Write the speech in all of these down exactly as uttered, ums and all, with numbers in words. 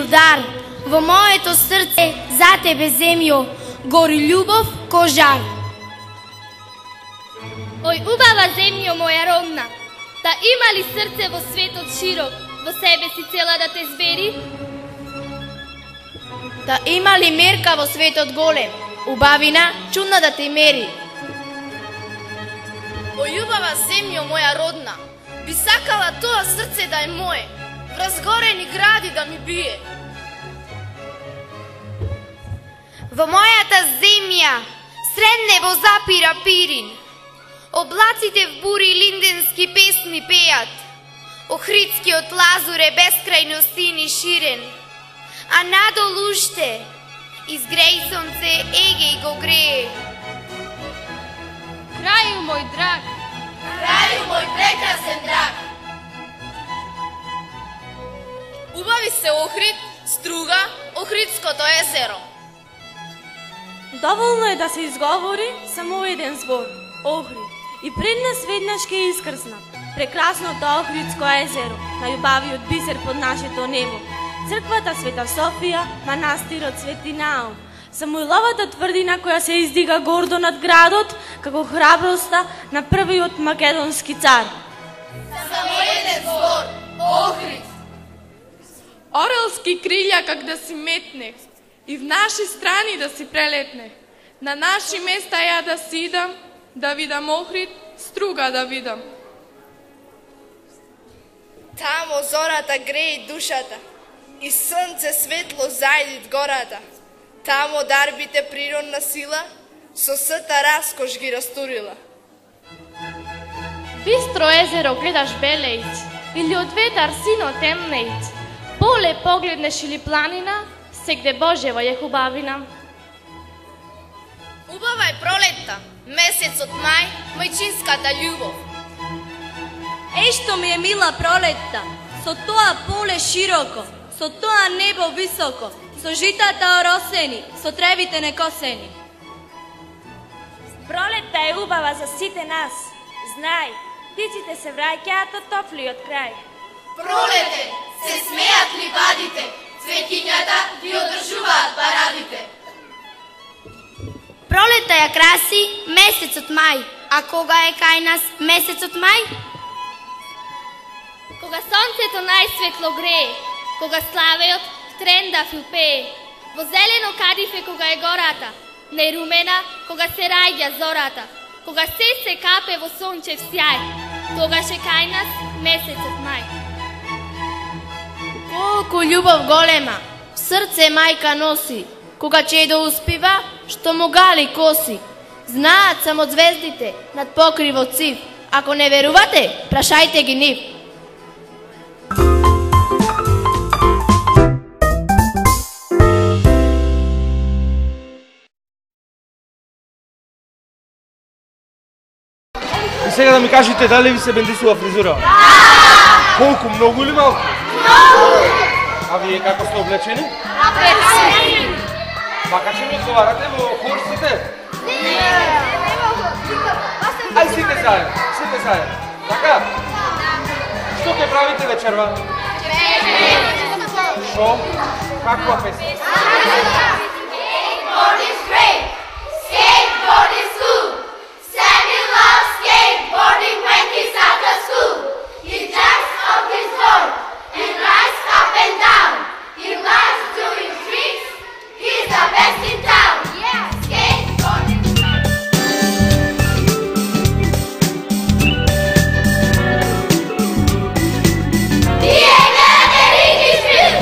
Дар, во моето срце за тебе, земјо, гори љубов ко жар. Ој убава земјо моја родна, да има ли срце во светот широк, во себе си цела да те збери? Да има ли мерка во светот голем, убавина чудна да те мери? Ој убава земјо моја родна, би сакала тоа срце да е мое, врз горени гради да ми бие. Во мојата земја, сред небо запира пирин, облаците в бури линденски песни пеат, Охридскиот лазур е бескрајно сини ширен, а надолу уште, изгреј сонце, Егеј го грее. Крају мој драг, крају мој прекрасен драг. Убави се Охрид, Струга, Охридското езеро. Доволно е да се изговори само еден збор – Охрид. И пред нас веднаш ке искрсна прекрасното Охридско езеро, најубавиот бисер под нашето небо. Црквата Света Софија, манастирот Свети Наум, Самуиловата тврдина која се издига гордо над градот, како храброста на првиот македонски цар. Само еден збор – Охрид. Орелски крилја как да си метне, и в наши страни да си прелетне. На наши места ја да си идам, да видам Охрид, Струга да видам. Тамо зората греи душата, и сонце светло зајдит гората. Тамо дарбите природна сила, со сета раскош ги растурила. бистро езеро гледаш белејќ, или од ветар сино темнејќ, поле погледнеш или планина, сегде Божева е хубавина. Убава е пролетта, месецот мај, мајчинската љубов. Еј што ми е мила пролетта, со тоа поле широко, со тоа небо високо, со житата оросени, со тревите некосени. Пролетта е убава за сите нас. Знај, птиците се враќаат од топлиот крај. Пролете, се смеат ливадите, цвеќињата ги одржуваат парадите. Пролета ја краси месецот мај, а кога е кај нас месецот мај? Кога сонцето најсветло грее, кога славеот тренда филпее, во зелено кадифе кога е гората, не румена кога се раѓа зората, кога се се капе во сончев сјај, тогаш е кај нас месецот мај. Колку љубов голема, в срце мајка носи, кога чедо успива, што му гали коси. Знаат само звездите над покривот сив, ако не верувате, прашајте ги нив. И сега да ми кажете дали ви се бендисува фризура? Да! Колку, многу или малку? Многу! А вие како сте облечени? Облечени! Мака че ми одговарате во хор сите? Не! Ај сите заедно, сите заедно. Така? Што ќе правите вечерва? Шо? Каква песна? Skateboard is great! Skateboard is cool! Sammy loves skateboarding when he's after school. He jumps off his board and rides up and down. He loves doing tricks. He's the best in town. Yeah, skateboard is great. Diego Enriquez Film.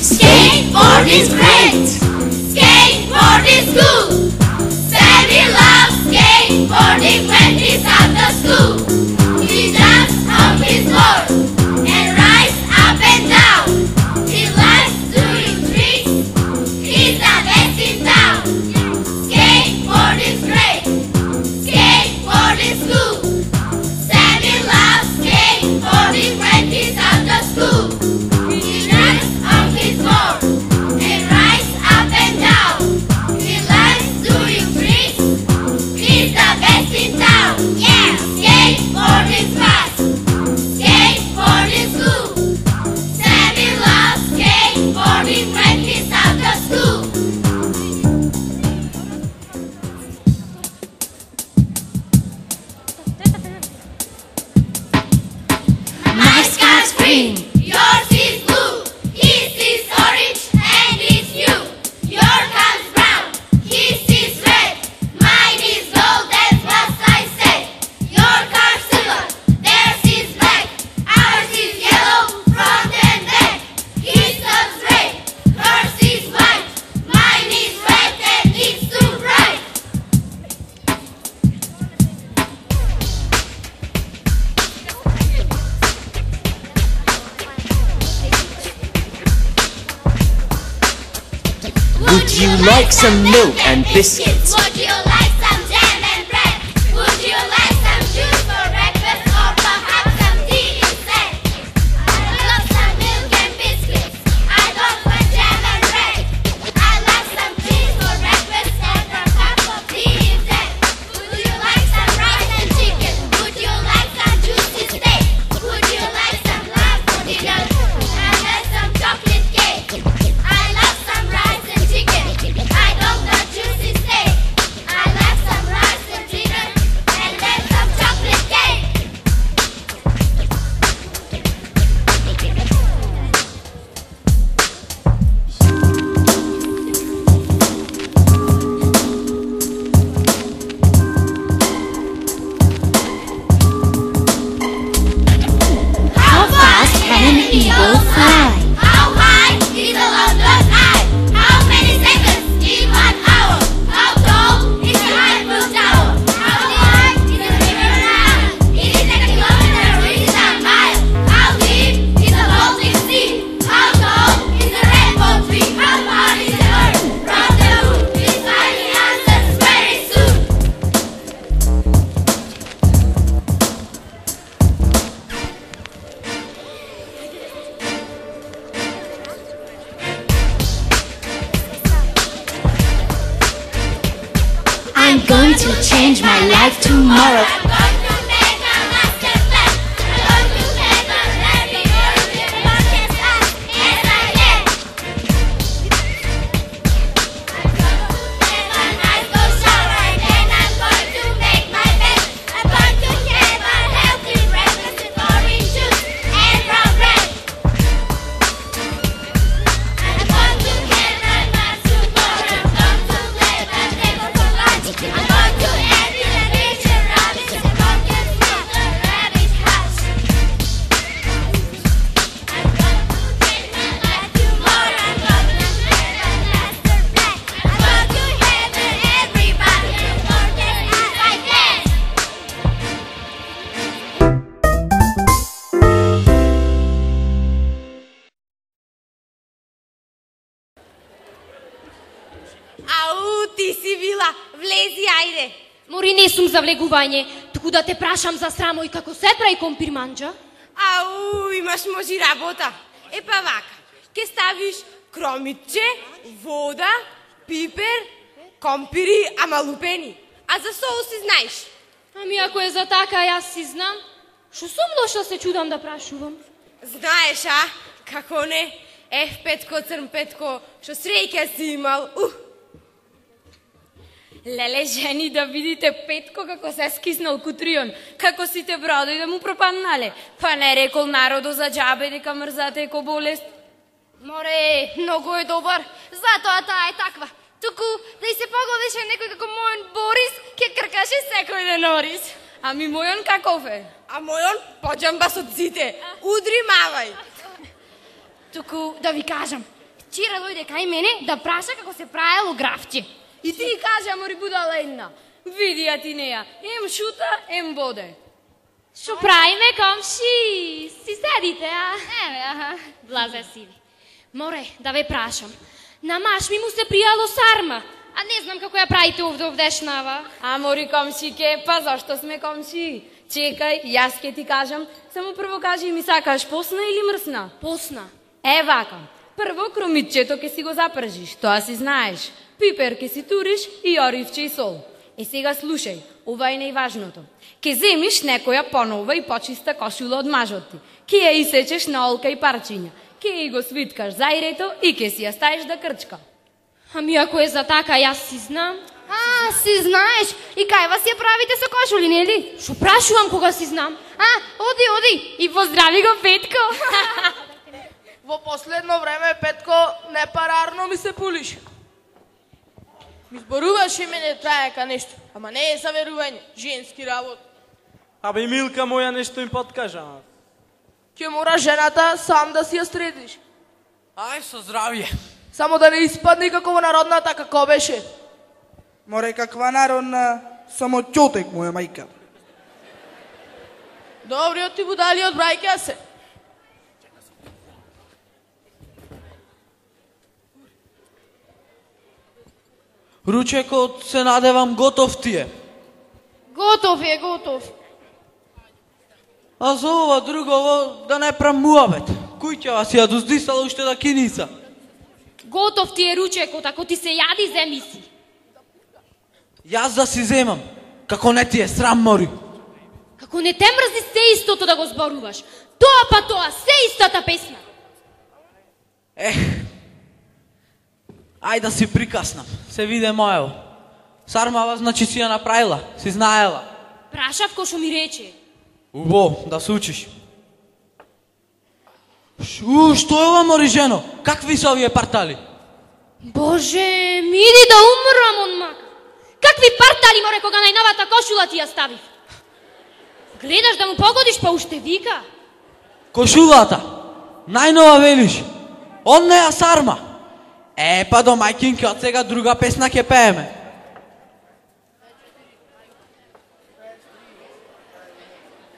Skateboard is great. Skateboard is cool. Sammy loves skateboarding when he's after school. He jumps off his board and rides up and down. He likes doing tricks. He's the best in town. Skateboard is great. Skateboard is cool. Sammy loves skateboarding when he's after school. Would you like some milk and biscuits? Would you like some jam and bread? Would you like some juice for breakfast or perhaps some tea instead? I love some milk and biscuits. I don't want jam and bread. I like some cheese for breakfast and a cup of tea instead. Would you like some rice and chicken? Would you like some juicy steak? Would you like some love for dinner? I have some chocolate cake. I love some rice and chicken. I don't want juicy steak. I love some rice and chicken and then some chocolate cake. How fast can an eagle fly? How high is a London eye? How many seconds in one hour? How tall is the Eiffel Tower? How wide is the river Nile? It is a kilometer, it is a mile. How deep is the Baltic Sea? How tall is the rainbow tree? How far is the earth from the moon? We'll find the answers very soon. I'm going to change my life tomorrow. I'm going to make a master plan. I'm going to make a very good podcast as I can. I'm going to take a nice cold shower and then I'm going to make my bed. I'm going to have a healthy breakfast with orange juice and brown bread. I'm going to get my math tomorrow. I'm going to play my neighbor for lunch. I'm going to add in a nature rabbit and pumpkin from the rabbit house. I'm going to change my life tomorrow. I'm going to make a master plan. I'm going to have everybody as gorgeous as I can. Ау, ти си била, влези, ајде. Мори не сум за влегување, туку да те прашам за срамој како се прави компирманџа. Ау, имаш можи работа. Е па вака, ке ставиш кромитче, вода, пипер, компири, ама лупени. А за соуси знаеш. Ами ако е за така, јас си знам. Шо сум дошла се чудам да прашувам. Знаеш, а? Како не? Еф, Петко, црн Петко, шо среќа си имал. Ух. Леле, жени, да видите Петко како се скиснал кутрион, како сите бродои да му пропаднале. Па не рекол народо за џабе дека мрзата е ко болест. Море, многу е добар, затоа таа е таква. Туку, да и се погодеше некој како мојон Борис, ке кркаше секој ден Орис. Ами мојон каков е? А мојон поџамбас од сите. Удри мавај. Туку да ви кажам, вчера дојде кај мене да праша како се правело графче. И ти кажа, мори будала една. Види ја ти неја, ем шута, ем боде. Шо правиме, комши? Си седите, а? Еве, аха, блазе си ви. Море, да ве прашам. На маш ми му се пријало сарма, а не знам како ја правите овде овдешнава. А мори комшике, па зашто сме комши? Чекај, јас ке ти кажам, само прво кажи ми сакаш посна или мрсна? Посна. Е вака, прво кромитчето ке си го запржиш, тоа си знаеш. Пипер ке си туриш и оривче и сол. Е сега слушај, ова е најважното. Ке земиш некоја понова и почиста кошула од мажот ти. Ке ја исечеш на олка и парчиња. Ке ја го свиткаш зајрето и ке си ја ставиш да крчка. Ами ако е за така, јас си знам. А, си знаеш, и кај вас ја правите со кошули, нели? Шо прашувам кога си знам? А, оди, оди, и поздрави го Петко. Во последно време, Петко, непарарно ми се пулиш. Ми зборуваш и мене траека нешто, ама не е за верување, женски работ. Абе, Милка моја нешто им подкажа. Ќе мора жената сам да си ја средиш. Ај, со здравје. Само да не испадне како во народната, како беше. Море, каква народна, само ќотек моја мајка. Добриот ти будалиот брајка се. Ручекот се надевам готов ти е. Готов е, готов. А за ова другово да не прам муабет. Кој ќе вас ја доздисала уште да киница? Готов ти е ручекот, ако ти се јади, земи си. Јас да си земам, како не ти е срам, Мори. Како не те мрзи се истото да го зборуваш. Тоа па тоа, се истата песна. Ех, ај да си прикаснам, се виде моево. Сармава значи си ја направила, си знаела. Прашав ко шо ми рече. Убо, да се учиш. Шу, што е ова, Мори, жено? Какви се овие партали? Боже, ми иди да умрам он мака. Какви партали, море, кога најновата кошула ти ја ставив? Гледаш да му погодиш, па уште вика. Кошулата, најнова велиш. Он не ја сарма. Е, па до мајкинке, од сега друга песна ќе пееме.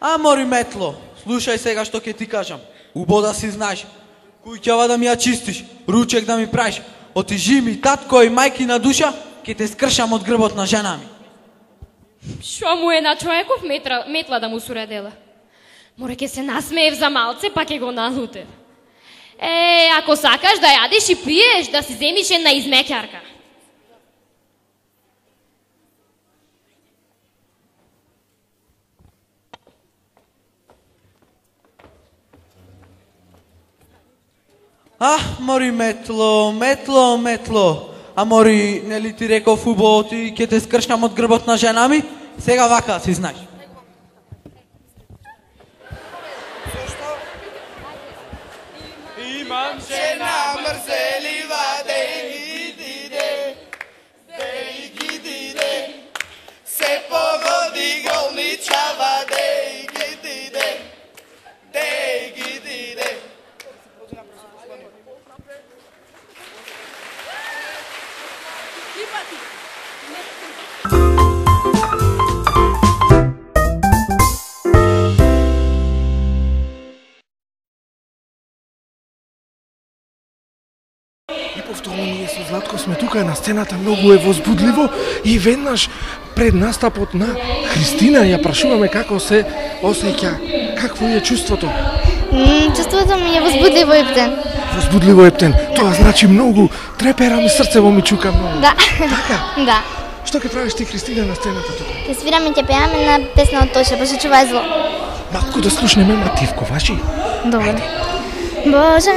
А, Мори Метло, слушај сега што ќе ти кажам. Убо да си знаеш. Куќава да ми ја чистиш, ручек да ми правиш. Отижи ми татко и мајки на душа, ќе те скршам од грбот на жена ми. Шо му е на човеков метра, метла да му суредела? Море ке се насмеев за малце, па ке го налутев. Е, ако сакаш да јадеш и пиеш, да си земиш една измекјарка. А, Мори Метло, Метло, Метло. А Мори, нели ти реков убаво ти ќе те скршнам од грбот на жена ми? Сега вака си знаеш. Имам жена мрзелива, дей ги диде, дей ги диде, се погоди голничава, дей ги диде, дей ги диде. Повторно ние со Златко сме тука на сцената, многу е возбудливо и веднаш пред настапот на Христина ја прашуваме како се осеќа, какво е чувството? Mm, чувството ми е возбудливо ептен. Возбудливо ептен, тоа значи многу, трепера ми срцево ми чука многу. Да. Така? Да. Што ќе правиш ти, Христина, на сцената тука? Ќе свираме и ќе пееме на песна од Тоша, Боже чувај зло. Малку да слушнеме мотивко, ваши? Добро. Боже